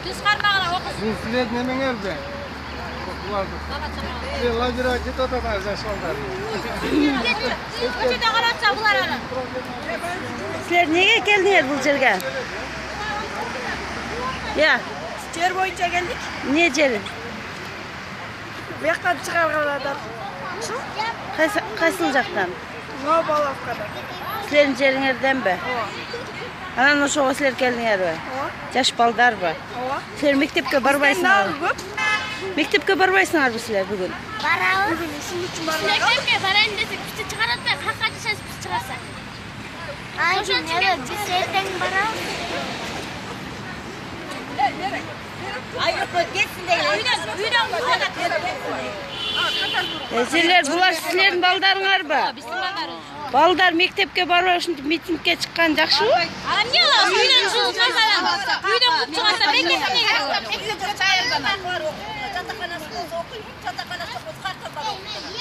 Түз кармагына окуsun. Силер немеңерде? Лагерьга кетип атат жаш балдар. Көчөдө калатса булар аны. Силер неге келдиңер бул жерге? Я, Жер боюнча келдик. не жери? Бияктан чыгарган атат. Кайсыл жактан? Новополовкадан. Силердин жериңерденби? Анан ошого силер келдиңерби? Жаш балдарбы? Силер мектепке барбайсыңарбы? Көп. Мектепке барбайсыңарбы силер бүгүн? Барабыз. Бүгүн ишин үчүн барбайбыз. Мектепке барайын десек, бизди чыгарат да, какка жашайсыз биз чыгарса. Ошон үчүн биз эртең барабыз. Силер булар силердин балдарыңарбы? Биздин балдарыбыз. Балдар мектепке барбай ушинтип митингге чыккан жакшыбы? Эмне кылабыз? Үйдөн чыгып чыгарса, мектепке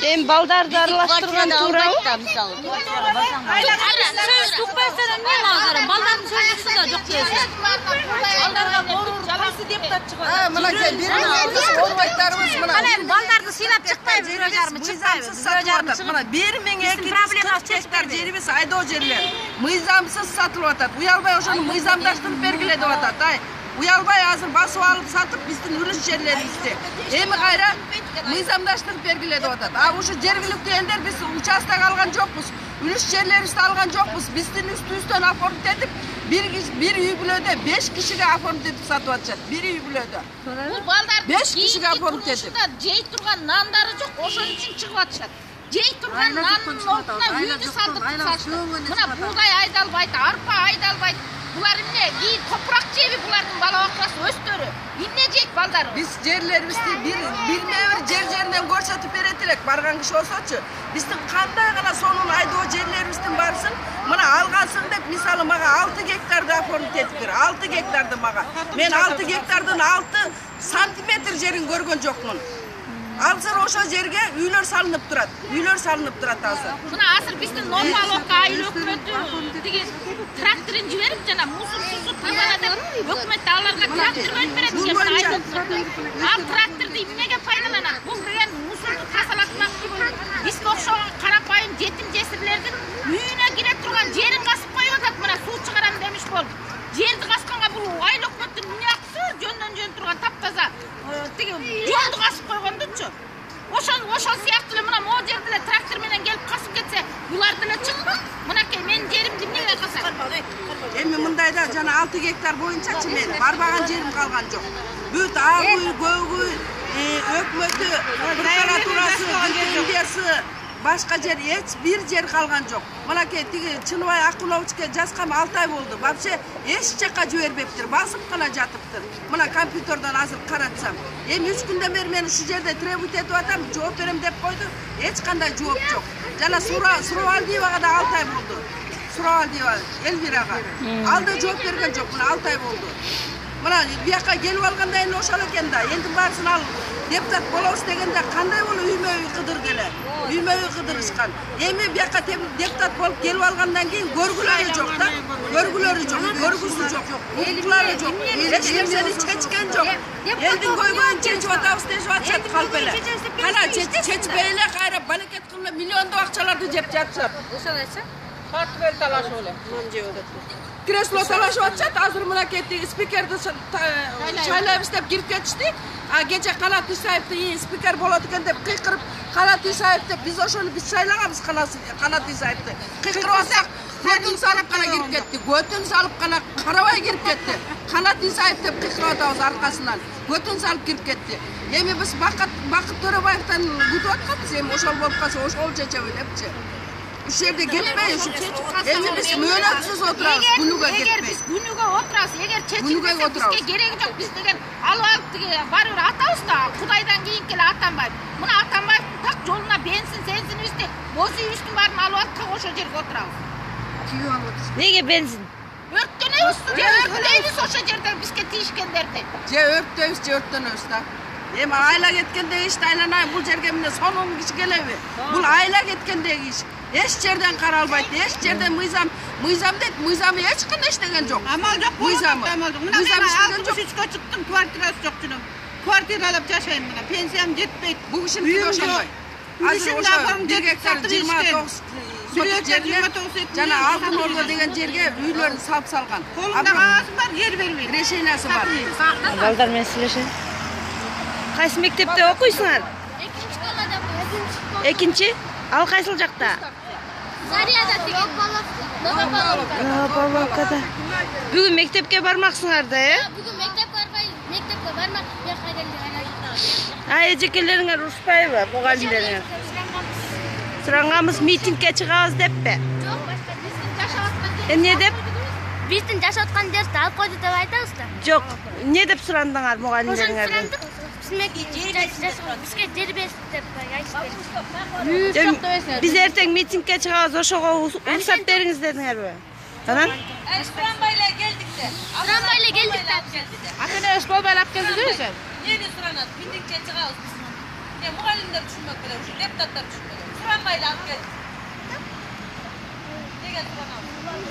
Эми балдарды аралаштырган туурабы? Укпайсадан эмне кылабыз? Балдардын сөзүсүндө жок дейсиз. Балдарга кайсы депутат чыгат? Мынакей биринчи орбайттарыбыз мына. Кана эми балдарды сыйлап чыкпайбыз, бирөө жарымы чыкпайбыз. Бирөө жарымы чыгып. Мына 1240 гектар жерибиз айдоо жерлер. Мыйзамсыз сатылып атат. Уялбай ошону мыйзамдаштырып бергиле деп атат. Уялбай азыр басып алып сатып биздин үлүс жерлерибизди. Эми кайра мыйзамдаштырып бергиле деп атат. Ушу жергиликтүү элдер биз участок алган жокпуз. Үлүс жерлерибизди алган жокпуз. Биздин үстүбүздөн оформить этип, bir үй бүлөдө 5 кишиге оформить этип сатып атышат. Bir үй бүлөдө. Бул балдардын 5 кишиге оформить этип. Жей турган нандары жок, ошон үчүн чыгып атышат. Жей турган нандын ордуна үйдү салдырып сатышты. Мына бугай айдалбайт, арпа айдалбайт. Булар эмне? Кийин топурак жеби булардын бала бакчасы өстөрү. Эмне жейт балдар? Биз жерлерибизди бир жеринен көрсөтүп берет элек барган киши болсочу. Биздин кандай гана сонун айдоо жерлерибиздин барсын, мына алгансың деп мисалы мага 6 гектарды оформить этип бер. 6 гектарды мага. Мен 6 гектардын 6 сантиметр жерин көргөн жокмун. Азыр ошо жерге үйлөр салынып турат. Үйлөр салынып турат азыр. Мына азыр биздин Новополовка айыл өкмөтү тиги тракторун жиберип жана мусор сусу тазала деп өкмөт аларга трактор берип берет экен айыл өкмөтү. Ал тракторду эмнеге пайдаланат? Бул деген мусорду тазалатмакчы болуп, бизге окшогон карапайым жетим жесирлердин үйүнө кире турган жерин касып коюп атат. Мына суу чыгарам демиш болуп. Жерди касканга бул айыл өкмөттүн эмне акысы? Жөндөн турган таптаза тиги жолду касып койгондучу. Ошол сыяктуу эле мына могу жерде эле трактор менен келип касып кетсе, булар деле чыкпак. Мынакей менин жеримди эмнеге касат? Эми мындайда жана 6 гектар боюнчачы мен барбаган жерим калган жок. Бүт ак үй, көк үй, өкмөтү, прокуратурасы, лицензиясы, башка жер эч бир жер калган жок. Мынакей тиги Чыныбай Акуловичке жазгам 6 ай болду. Вообще эч жакка жибербептир, басып гана жатыптыр. Мына компьютерден азыр каратсам. Эми 3 күндөн бери мен ушу жерде требовать этип атам, жооп берем деп койду. Эч кандай жооп жок. Жана Суравалдиевага да 6 ай болду. Суравалдиева Эльвирага. Ал да жооп берген жок, мына 6 ай болду. Мына бияка келип алганда эми ошол экен да. Энди баарысын ал депутат болобуз дегенде кандай болуп үймө-үй кыдырды эле. Үймө-үй кыдырышкан. Эми бияка депутат болуп келип алгандан кийин көргүлөрү жок да. Көргүлөрү жок, көргүсү жок, укуклары жок. Эч нерсени чечкен жок. Элдин көйгөйүн чечип атабыз дешип атышат калп эле. Кана чечпей эле кайра балекет кылып миллиондоп акчаларды жеп жатышат. Ошол эче? Портфель талашып эле. Кресло талашып атышат. Азыр мынакей спикерди шайлайбыз деп кирип кетишти. Кече Канат Исаевди спикер болот экен деп кыйкырып, Канат Исаев деп биз ошону шайлаганбыз Канат Исаевди. Кыйкырып атсак, көтүн салып гана кирип кетти. Көтүн салып гана карабай кирип кетти. Канат Исаев деп кыйкырып атабыз аркасынан. Көтүн салып кирип кетти. Эми биз Бакыт Төрөбаевтан күтүп атканбыз. Эми ошол болуп калса ошол чечеби депчи. Ушул жерде кетпей, эми биз мөөнөтсүз отурабыз, күнүгө кетпей. Эгер биз күнүгө отурабыз, эгер чечилбесе бизге кереги жок. Биз деген алып тиги барыбир атабыз да, Кудайдан кийинки эле Атамбаев. Мына Атамбаевдин так жолуна бензинибизди, боз үйүбүздүн баарын алып алып, так ошол жерге отурабыз. Күйүп алып атышат. Неге бензин? Өрттөнөбүз, өрттөйбүз ошол жерде бизге тийишкендерди. Өрттөнөбүз да. Эми айла кеткенде ишти айланайын, бул жерге эмне сонун киши келеби? Бул айла кеткендеги иш. Эч жерден каралбайт, эч жерден мыйзам дейт, мыйзамы эч кандай иштеген жок. Амал жок, Мыйзамы. Мына Мыйзам мен иштеген жок. 63 чыктым, квартирасы жок жүрөм. Квартиралап жашайм мына, пенсиям жетпейт. Бул кишиники ошондой. Азыр ошо 1 гектар 29 соток жерге жана Алтын Ордо деген жерге үйлөрүн салып салган. Колунда кагазы бар, жер бербейт. Решениясы бар. Балдар менен сүйлөшөйүн. Кайсы мектепте окуйсуңар? Экинчи школада окуйм. Экинчи? Ал кайсыл жакта? Зарияда деген. Павловкада. Бүгүн мектепке бармаксыңар да, Бүгүн мектепке бармак, мен кайдан Эжекелериңер урушпайбы, мугалимдериңер? Суранганбыз митингге чыгабыз деппи? Жок, башка биздин жашап аткан Эмне деп? биздин жашап аткан жерди алып койду деп айтабыз да. Жок. Эмне деп сурандыңар мугалимдериңерден? Бизге жер берсин деп айтышты. Биз эртең митингге чыгабыз, ошого уруксат бериңиз дедиңерби? Анан? Суранбайлар келдик де. Суранбайлар келдик да. Акыны Ошболбай алып келди десем. Эмне суранат? Митингге чыгабыз биз. Мугалимдер түшүнмөк керек, ушу депутаттар түшүнмөк керек. Суранбайлар алып келди. Неге суранабыз?